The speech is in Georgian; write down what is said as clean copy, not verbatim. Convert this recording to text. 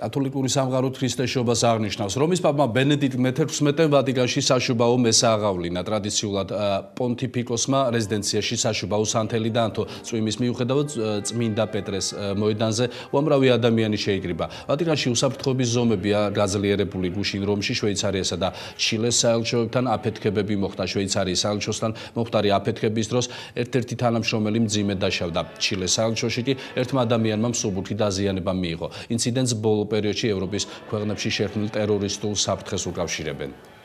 კათოლიკური სამყარო ქრისტესობას აღნიშნავს. რომის პაპმა ბენედიქტ მე-16-მ ვატიკანში საშუბაო მესა აღავლინა. ტრადიციულად პონტიფიკოსმა რეზიდენციაში საშუბაო სანთელი დაანთო. წვიმის მიუხედავად წმინდა პეტრეს მოედანზე უამრავი ადამიანი შეიკრიბა. ვატიკანში უსაფრთხოების ზომებია გაძლიერებული. გუშინ რომში შვეიცარიასა და ჩილეს საელჩოებთან აფეთქებები მოხდა. შვეიცარიის საელჩოსთან მომხდარი აფეთქების დროს ერთ-ერთი თანამშრომელი მძიმედ დაშავდა. ჩილეს საელჩოში კი ერთმა ადამიანმა მსუბუქი დაზიანება მიიღო. ინციდენტს ბოლო პერიოდში ევროპის ქვეყნებში შექმნილ ტერორისტულ საფრთხეს უკავშირებენ.